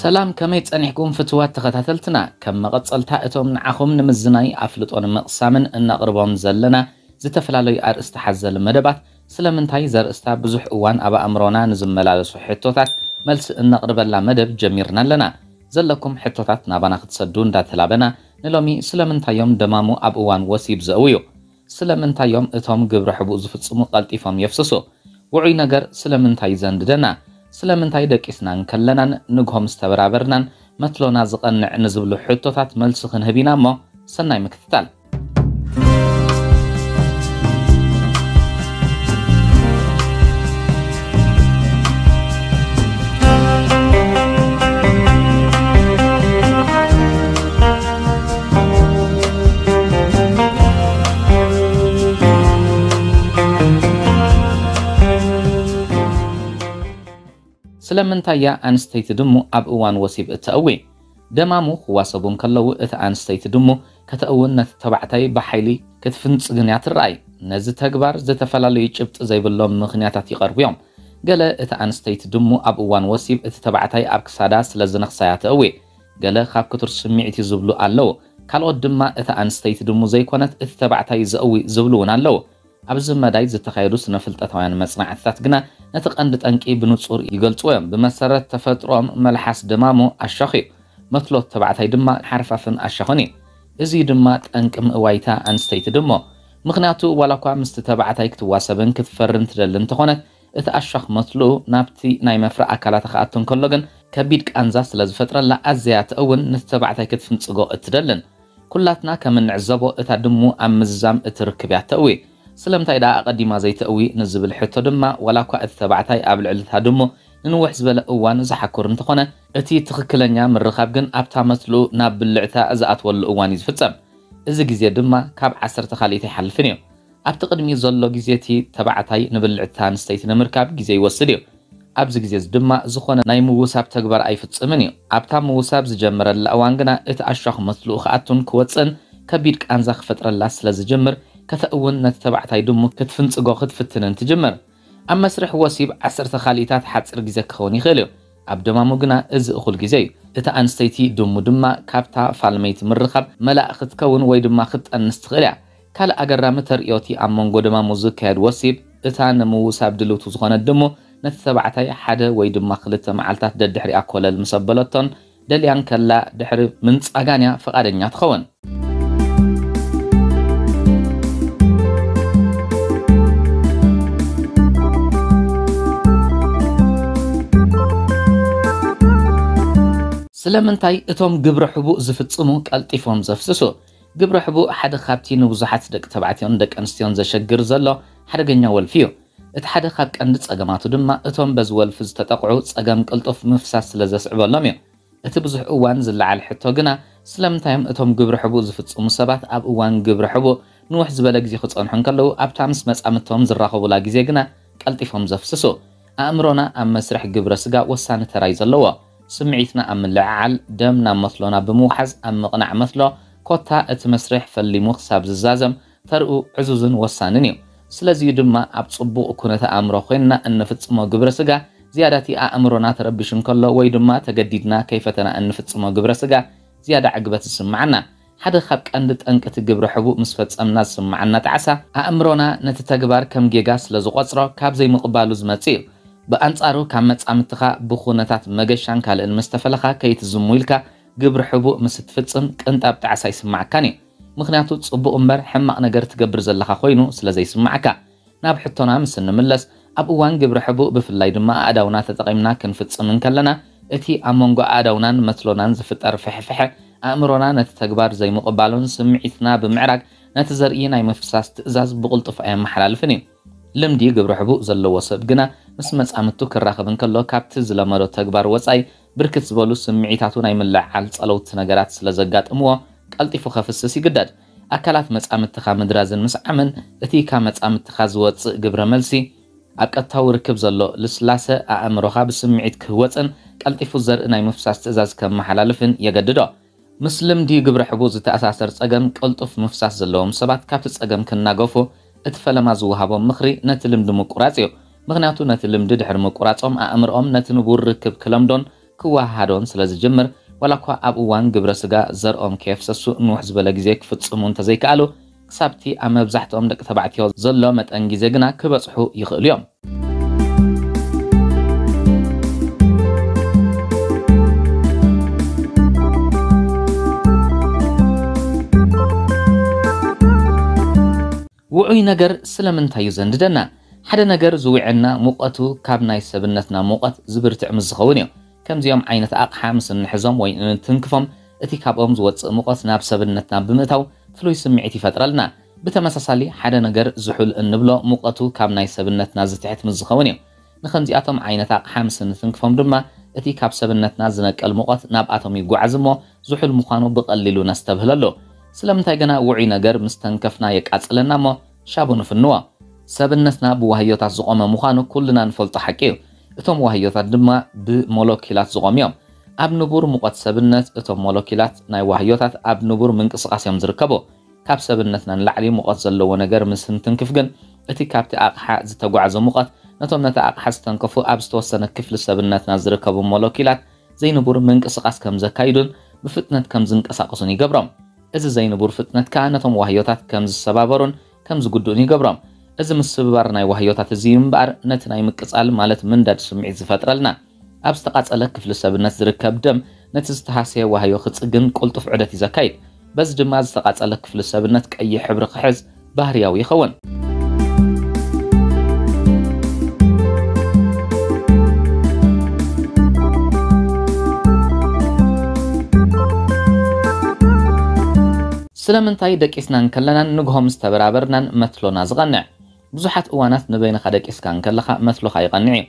ሰላም፣ ከመይ ጸኒሕኩም ፍትዋት ተኸታተልትና? ከም መቐጸልታ እቶም ንዓኹም ንምዝናይ ኣፍልጦ ንምቕሳምን እነቕርቦም ዘለና ዝተፈላለዩ ኣርእስቲ ሓዘል መደባት፣ ስለምንታይ ዘርእስታ ብዙሕ እዋን ኣብ ኣእምሮና ንዝመላለሱ ሕቶታት መልሲ እነቕርበላ መደብ ጀሚርና ኣለና። ዘለኩም ሕቶታት ናባና ክትሰዱ እንዳተላበና፣ ንሎሚ ስለምንታዮም ደማሙ ኣብ እዋን ወሲብ ዘእውዩ? ስለምንታዮም እቶም ግብረ ሕቡእ ዝፍጽሙ ቀልጢፎም የፍስሱ? ውዑይ ነገር ስለምንታይ ዘንድደና? ስለምንታይ ደቂስና እንከለናን ንግሆ ምስ ተበራበርናን መትሎና ዝቐንዕ ንዝብሉ ሕቶታት መልሲ ክንህብ ኢና እሞ፣ ሰናይ ምክትታል። ስለምንታይ እያ ኣንስተይቲ ድሙ ኣብ እዋን ወሲብ እተእዊ? ደማሙ ክዋሰቡ እንከለዉ፣ እታ ኣንስተይቲ ድሙ ከተእውን ነቲ ተባዕታይ ብሓይሊ ክትፍንጽግን እያ ትረኣይ። ነዚ ተግባር ዝተፈላለዩ ጭብጢ ዘይብሎም ምኽንያታት ይቐርቡ እዮም። ገለ እታ ኣንስተይቲ ድሙ ኣብ እዋን ወሲብ እቲ ተባዕታይ ኣብ ክሳዳ ስለ ዝነኽሳ እያ ተእዊ። ገለ ካብ ክቱር ስምዒት እዩ ዝብሉ ኣለዉ። ካልኦት ድማ እታ ኣንስተይቲ ድሙ ዘይኮነት እቲ ተባዕታይ ዘእዊ ዝብሉ እውን ኣለዉ። ኣብዚ መዳይ ዝተኻየዱ ስነ-ፍልጠታውያን መጽናዕትታት ግና ነቲ ቀንዲ ጠንቂ ብንጹር ይገልጽዎ እዮም። ብመሰረት ተፈጥሮኦም መልሓስ ደማሙ ኣሻኽ እዩ። መትሎት ተባዕታይ ድማ ሓርፋፍን ኣሻኽን እዩ። እዚ ድማ ጠንቂ ምእዋይታ ኣንስተይቲ ድሙ። ምኽንያቱ ዋላ እኳ ምስቲ ተባዕታይ ክትዋሰብን ክትፈርን ትደሊ እንተኾነት፣ እቲ ኣሻኽ መትልኡ ናብቲ ናይ መፍረ ኣካላታ ክኣቱ እንከሎ ግን ከቢድ ቃንዛ ስለ ዝፈጥረላ ኣዝያ ተእውን ነቲ ተባዕታይ ክትፍንጽጎ እትደልን። ኩላትና ከም እንዕዘቦ እታ ድሙ ኣብ ምዝዛም እትርክብ እያ ተእዊ። ስለምንታይ ደኣ ኣቐዲማ ዘይተእዊ ንዝብል ሕቶ ድማ ዋላ እኳ እቲ ተባዕታይ ኣብ ልዕሊ እታ ድሙ ንንውሕ ዝበለ እዋን ዝሓኩር እንተኾነ፣ እቲ ትኽክለኛ ምርኻብ ግን ኣብታ መትልኡ ናብ ብልዕታ ዝኣትወሉ እዋን እዩ ዝፍጸም። እዚ ግዜ ድማ ካብ ዓሰርተ ካልኢት ኣይሓልፍን እዩ። ኣብቲ ቅድሚኡ ዘሎ ግዜ እቲ ተባዕታይ ንብልዕታ ኣንስተይቲ ንምርካብ ግዜ ይወስድ እዩ። ኣብዚ ግዜ እዚ ድማ ዝኾነ ናይ ምውሳብ ተግባር ኣይፍጽምን እዩ። ኣብታ ምውሳብ ዝጀመረላ እዋን ግና እቲ ኣሻኽ መትልኡ ክኣቱን ክወጽእን ከቢድ ቃንዛ ክፈጥረላ ስለ ዝጅምር፣ ከተእውን ነቲ ተባዕታይ ድሙ ክትፍንጽጎ ክትፍትንን ትጅምር። ኣብ መስርሕ ወሲብ ዓሰርተ ካልኢታት ሓጺር ግዜ ክኸውን ይኽእል እዩ። ኣብ ደማሙ ግና እዚ እኹል ግዜ እዩ። እታ ኣንስተይቲ ድሙ ድማ ካብታ ፋልመይቲ ምርኻብ መላእ ክትከውን ወይ ድማ ክትጠንስ ትኽእል እያ። ካልእ ኣገራሚ ተርእዮ እቲ ኣብ መንጎ ደማሙ ዝካየድ ወሲብ፣ እታ ንምውሳብ ድልውቲ ዝኾነት ድሙ ነቲ ተባዕታይ ሓደ ወይ ድማ ክልተ መዓልታት ደድሕሪኣ ኮለል ምስ ኣበለቶን ደልያን ከላ ድሕሪ ምንጻጋን እያ ፍቓደኛ ትኸውን። ስለምንታይ እቶም ግብረ ሕቡእ ዝፍጽሙ ቀልጢፎም ዘፍስሱ? ግብረ ሕቡእ ሓደ ካብቲ ንብዙሓት ደቂ ተባዕትዮን ደቂ ኣንስትዮን ዘሸግር ዘሎ ሓደገኛ ወልፊ እዩ። እቲ ሓደ ካብ ቀንዲ ጸገማቱ ድማ እቶም በዚ ወልፊ ዝተጠቕዑ ጸገም ቅልጡፍ ምፍሳስ ስለ ዘስዕበሎም እዩ። እቲ ብዙሕ እዋን ዝለዓል ሕቶ ግና፣ ስለምንታይ እዮም እቶም ግብረ ሕቡእ ዝፍጽሙ ሰባት ኣብ እዋን ግብረ ሕቡእ ንውሕ ዝበለ ግዜ ክጸንሑ እንከለዉ፣ ኣብታ ምስ መጻምድቶም ዝራኸቡላ ግዜ ግና ቀልጢፎም ዘፍስሱ? ኣእምሮና ኣብ መስርሕ ግብረ ስጋ ወሳኒ ተራ እዩ ዘለዎ። ስምዒትና ኣብ ምልዕዓል፣ ደም ናብ መትሎና ብምውሓዝ ኣብ ምቕናዕ መትሎ፣ ኮታ እቲ መስርሕ ፈሊሙ ክሳብ ዝዛዘም ተርኡ ዕዙዝን ወሳንን እዩ። ስለዚዩ ድማ ኣብ ጽቡቕ ኩነተ ኣእምሮ ኮይንና እንፍጽሞ ግብረ ስጋ ዝያዳ እቲ ኣእምሮና ተረቢሹ እንከሎ ወይ ድማ ተገዲድና ከይፈተና እንፍጽሞ ግብረ ስጋ ዝያዳ ዕግበት ዝስምዓና። ሓደ ካብ ቀንዲ ጠንቂ እቲ ግብረ ሕቡእ ምስ ፈጸምና ዝስምዓና ጣዕሳ፣ ኣእምሮና ነቲ ተግባር ከም ጌጋ ስለ ዝቖጽሮ ካብ ዘይምቕባሉ ዝመጽእ እዩ። ብኣንጻሩ ካብ መጻምድትኻ ብኹነታት መገሻን ካልእን ምስ ተፈለኻ ከይትዝሙ ኢልካ ግብረ ሕቡእ ምስ እትፍጽም ቅንጣብ ጣዕሳ ኣይስምዓካን እዩ። ምኽንያቱ ጽቡቕ እምበር ሕማቕ ነገር ትገብር ዘለኻ ኮይኑ ስለ ዘይስምዓካ። ናብ ሕቶና ምስ እንምለስ፣ ኣብ እዋን ግብረ ሕቡእ ብፍላይ ድማ ኣእዳውና ተጠቒምና ክንፍጽም እንከለና፣ እቲ ኣብ መንጎ ኣእዳውናን መትሎናን ዝፍጠር ፍሕፍሐ፣ ኣእምሮና ነቲ ተግባር ዘይምቕባሉን ስምዒትና ብምዕራግ ነቲ ዘርኢ ናይ ምፍሳስ ትእዛዝ ብቕልጡፍ ኣየመሓላልፍን እዩ። ልምዲ ግብረ ሕቡእ ዘለዎ ሰብ ግና ምስ መጻምድቱ ክራኸብ እንከሎ ካብቲ ዝለመዶ ተግባር ወጻኢ ብርክት ዝበሉ ስምዒታቱ ናይ ምልዕዓል ጸለውቲ ነገራት ስለ ዘጋጥምዎ ቀልጢፉ ከፍስስ ይግደድ። ኣካላት መጻምድትኻ ምድራዝን ምስዓምን እቲ ካብ መጻምድትኻ ዝወጽእ ግብረ መልሲ ኣብ ቀጥታዊ ርክብ ዘሎ ልስላሰ ኣእምሮኻ ብስምዒት ክህወጽን ቀልጢፉ ዘርኢ ናይ ምፍሳስ ትእዛዝ ከመሓላልፍን የገድዶ። ምስ ልምዲ ግብረ ሕቡእ ዝተኣሳሰር ጸገም ቅልጡፍ ምፍሳስ ዘለዎም ሰባት ካብቲ ጸገም ክናገፉ እቲ ፈለማ ዝወሃቦም ምኽሪ ነቲ ልምዲ ምቁራጽ እዩ። ምኽንያቱ ነቲ ልምዲ ድሕሪ ምቁራጾም ኣእምሮኦም ነቲ ንቡር ርክብ ክለምዶን ክወሃሃዶን ስለ ዝጅምር፣ ዋላ እኳ ኣብ እዋን ግብረ ስጋ ዘርኦም ከየፍሰሱ ንውሕ ዝበለ ግዜ ክፍጽሙ እንተዘይከኣሉ፣ ክሳብቲ ኣብ መብዛሕትኦም ደቂ ተባዕትዮ ዘሎ መጠን ግዜ ግና ክበጽሑ ይኽእሉ እዮም። ውዑይ ነገር ስለምንታይ እዩ ዘንድደና? ሓደ ነገር ዝውዕና ሙቐቱ ካብ ናይ ሰብነትና ሙቐት ዝብርትዕ ምስ ዝኸውን እዩ። ከምዚኦም ዓይነት ኣቕሓ ምስ እንሕዞም ወይ እንትንክፎም፣ እቲ ካብኦም ዝወጽእ ሙቐት ናብ ሰብነትና ብምእታው ፍሉይ ስምዒት ይፈጥረልና። ብተመሳሳሊ፣ ሓደ ነገር ዝሑል እንብሎ ሙቐቱ ካብ ናይ ሰብነትና ዝትሕት ምስ ዝኸውን እዩ። ንኸምዚኣቶም ዓይነት ኣቕሓ ምስ እንትንክፎም ድማ፣ እቲ ካብ ሰብነትና ዝነቅል ሙቐት ናብኣቶም ይጓዓዝ እሞ፣ ዝሑል ምዃኑ ብቐሊሉ ነስተብህለሉ። ስለምንታይ ግና ውዑይ ነገር ምስ ተንከፍና የቃጽለና እሞ፣ ሻቡ ንፍንዎ? ሰብነትና ብዋህዮታት ዝቖመ ምዃኑ ኩልና ንፈልጦ ሓቂ እዩ። እቶም ዋህዮታት ድማ ብሞለኪላት ዝቖሙ እዮም። ኣብ ንቡር ሙቐት ሰብነት፣ እቶም ሞለኪላት ናይ ዋህዮታት ኣብ ንቡር ምንቅስቓስ እዮም ዝርከቡ። ካብ ሰብነትና ንላዕሊ ሙቐት ዘለዎ ነገር ምስ እንትንክፍ ግን፣ እቲ ካብቲ ኣቕሓ ዝተጓዕዘ ሙቐት ነቶም ነቲ ኣቕሓ ዝተንከፉ ኣብ ዝተወሰነ ክፍሊ ሰብነትና ዝርከቡ ሞለኪላት ዘይንቡር ምንቅስቓስ ከም ዘካይዱን ብፍጥነት ከም ዝንቀሳቐሱን ይገብሮም። እዚ ዘይንቡር ፍጥነት ከኣ ነቶም ዋህዮታት ከም ዝሰባበሩን ከም ዝጉድኡን ይገብሮም። እዚ ምስብባር ናይ ዋህዮታት እዚ እዩ እምበኣር ነቲ ናይ ምቅጻል ማለት ምንዳድ ስምዒት ዝፈጥረልና። ኣብ ዝተቓጸለ ክፍሊ ሰብነት ዝርከብ ደም ነቲ ዝተሃስየ ዋህዮ ክጽግን ቅልጡፍ ዑደት እዩ ዘካይድ። በዚ ድማ ዝተቓጸለ ክፍሊ ሰብነት ቀይሕ ሕብሪ ክሕዝ ባህርያዊ ይኸውን። ስለምንታይ ደቂስና እንከለናን ንግሆ ምስ ተበራበርናን መትሎና ዝቐንዕ? ብዙሓት እዋናት ንበይንኻ ደቂስካ እንከለኻ መትሎኻ ይቐንዕ እዩ።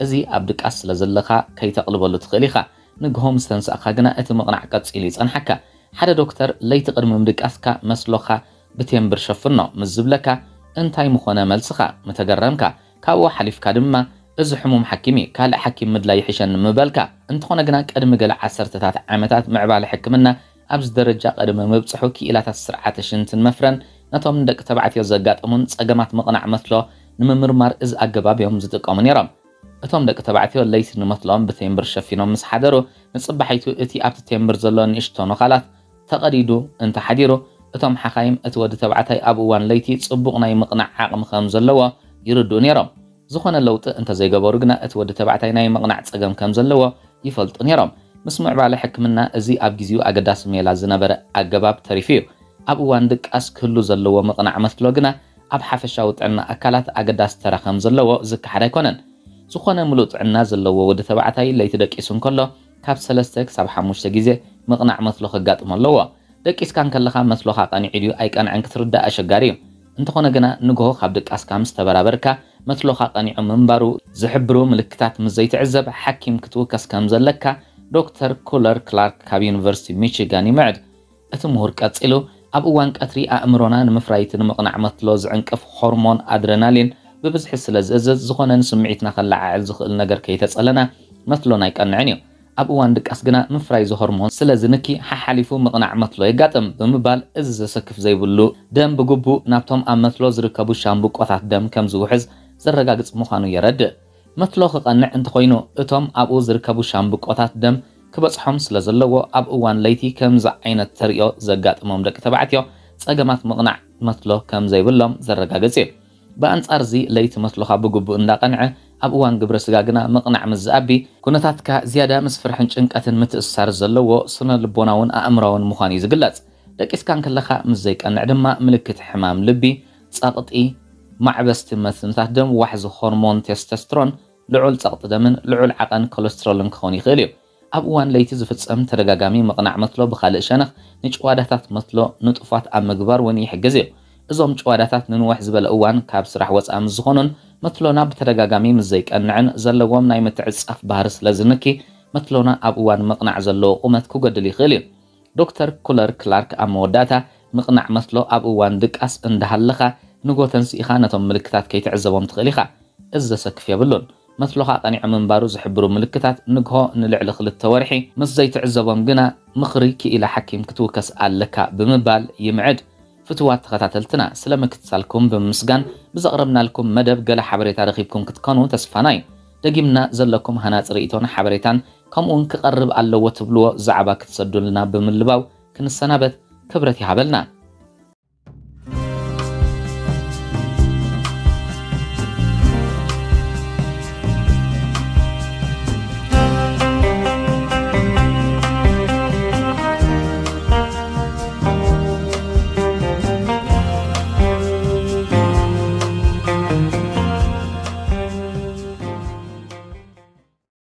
እዚ ኣብ ድቃስ ስለ ዘለኻ ከይተቕልበሉ ትኽእል ኢኻ። ንግሆ ምስ ተንሳእካ ግና እቲ ምቕናዕ ቀጺሉ ይጸንሓካ። ሓደ ዶክተር ለይቲ ቅድሚ ምድቃስካ መስሎኻ ብቴምብር ሸፍኖ ምስ ዝብለካ እንታይ ምኾነ መልስኻ? ምተገረምካ። ካብኡ ሓሊፍካ ድማ፣ "እዚ ሕሙም ሓኪም እዩ፣ ካልእ ሓኪም ምድላይ ይሕሸኒ" ምበልካ። እንተኾነ ግና ቅድሚ ገለ ዓሰርተታት ዓመታት ምዕባለ ሕክምና ኣብዚ ደረጃ ቅድሚ ምብጽሑ ክኢላታት ስርዓተ ሽንትን መፍረን ነቶም ንደቂ ተባዕትዮ ዘጋጥሙን ጸገማት ምቕናዕ መትሎ ንምምርማር እዚ ኣገባብ እዮም ዝጥቀሙ ነይሮም። እቶም ደቂ ተባዕትዮ ለይቲ ንመትሎኦም ብቴምብር ሸፊኖም ምስ ሓደሩ፣ ንጽባሒቱ እቲ ኣብቲ ቴምብር ዘሎ ንእሽቶ ነዃላት ተቐዲዱ እንተሓዲሩ፣ እቶም ሓኻይም እቲ ወዲ ተባዕታይ ኣብ እዋን ለይቲ ጽቡቕ ናይ ምቕናዕ ዓቕሚ ከም ዘለዎ ይርድኡ ነይሮም። ዝኾነ ለውጢ እንተዘይገበሩ ግና፣ እቲ ወዲ ተባዕታይ ናይ ምቕናዕ ጸገም ከም ዘለዎ ይፈልጡ ነይሮም። ምስ ምዕባለ ሕክምና፣ እዚ ኣብ ግዜኡ ኣገዳሲ ሜላ ዝነበረ ኣገባብ ተሪፉ እዩ። ኣብ እዋን ድቃስ ክህሉ ዘለዎ ምቕናዕ መትሎ ግና፣ ኣብ ሓፈሻዊ ጥዕና ኣካላት ኣገዳሲ ተራ ከም ዘለዎ ዝከሓድ ኣይኮነን። ዝኾነ ምሉእ ጥዕና ዘለዎ ወዲ ተባዕታይ ለይቲ ደቂሱ እንከሎ፣ ካብ ሰለስተ ክሳብ ሓሙሽተ ግዜ ምቕናዕ መትሎ ከጋጥሞ ኣለዎ። ደቂስካ እንከለኻ መትሎኻ ቀኒዑ ድዩ ኣይቀንዐን ክትርዳእ ኣሸጋሪ እዩ። እንተኾነ ግና፣ ንግሆ ካብ ድቃስካ ምስ ተበራበርካ፣ መትሎኻ ቀኒዑ ምንባሩ ዝሕብሩ ምልክታት ምስ ዘይትዕዘብ፣ ሓኪም ክትውከስ ከም ዘለካ ዶክተር ኩለር ክላርክ ካብ ዩኒቨርሲቲ ሚቺጋን ይምዕድ። እቲ ምሁር ቀጺሉ፣ ኣብ እዋን ቀትሪ ኣእምሮና ንምፍራይ እቲ ንምቕናዕ መትሎ ዝዕንቅፍ ሆርሞን ኣድረናሊን ብብዝሒ ስለ ዝእዝዝ፣ ዝኾነ ንስምዒትና ከለዓዕል ዝኽእል ነገር ከይተጸለና መትሎና ኣይቀንዕን እዩ። ኣብ እዋን ድቃስ ግና ምፍራይ እዚ ሆርሞን ስለ ዝንኪ፣ ሓሓሊፉ ምቕናዕ መትሎ የጋጥም ብምባል፣ እዚ ዘሰክፍ ዘይብሉ ደም ብግቡእ ናብቶም ኣብ መትሎ ዝርከቡ ሻምብቆታት ደም ከም ዝውሕዝ ዘረጋግጽ ምዃኑ የረድእ። መትሎ ክቐንዕ እንተኾይኑ፣ እቶም ኣብኡ ዝርከቡ ሻምብቆታት ደም ክበጽሖም ስለ ዘለዎ፣ ኣብ እዋን ለይቲ ከምዚ ዓይነት ተርእዮ ዘጋጥሞም ደቂ ተባዕትዮ ጸገማት ምቕናዕ መትሎ ከም ዘይብሎም ዘረጋግጽ እዩ። ብኣንጻር እዚ፣ ለይቲ መትሎኻ ብግቡእ እንዳቐንዐ፣ ኣብ እዋን ግብረ ስጋ ግና ምቕናዕ ምስ ዝኣቢ፣ ኩነታትካ ዝያዳ ምስ ፍርሕን ጭንቀትን ምትእስሳር ዘለዎ ስነ ልቦናውን ኣእምራውን ምዃኑ እዩ ዝግለጽ። ደቂስካ እንከለኻ ምስ ዘይቀንዕ ድማ፣ ምልክት ሕማም ልቢ፣ ጸቕጢ፣ ማዕበስቲ መትንታት ደም፣ ዋሕዚ ሆርሞን ቴስቶስትሮን፣ ልዑል ጸቕጢ ደምን ልዑል ዓቐን ኮለስትሮልን ክኸውን ይኽእል እዩ። ኣብ እዋን ለይቲ ዝፍጸም ተደጋጋሚ ምቕናዕ መትሎ፣ ብኻልእ ሸነኽ፣ ንጭዋዳታት መትሎ ንጡፋት ኣብ ምግባር እውን ይሕግዝ እዩ። እዞም ጭዋዳታት ንንውሕ ዝበለ እዋን ካብ ስራሕ ወጻኢ ምስ ዝኾኑን መትሎና ብተደጋጋሚ ምስ ዘይቀንዕን፣ ዘለዎም ናይ ምትዕጻፍ ባህሪ ስለ ዝንኪ፣ መትሎና ኣብ እዋን ምቕናዕ ዘለዎ ቁመት ክጎድል ይኽእል እዩ። ዶክተር ኩለር ክላርክ ኣብ መወዳእታ፣ ምቕናዕ መትሎ ኣብ እዋን ድቃስ እንዳሃለኻ፣ ንጎ ተንሲእኻ ነቶም ምልክታት ከይትዕዘቦም ትኽእል ኢኻ። እዚ ዘሰክፍ የብሉን። መትሎኻ ቀኒዑ ምንባሩ ዝሕብሩ ምልክታት ንግሆ ንልዕሊ ክልተ ወርሒ ምስ ዘይትዕዘቦም ግና፣ ምኽሪ ክኢላ ሓኪም ክትውከስ ኣለካ ብምባል ይምዕድ። ፍቱዋት ተኸታተልትና፣ ስለ ምክትታልኩም ብምምስጋን፣ ብዘቕረብናልኩም መደብ ገለ ሓበሬታ ረኺብኩም ክትኮኑ ተስፋና እዩ። ደጊምና ዘለኩም ሃናጺ ርእይቶን ሓበሬታን ከምኡውን ክቐርብ ኣለዎ ትብልዎ ዛዕባ ክትሰዱልና ብምልባው ክንሰናበት ክብረት ይሃበልና።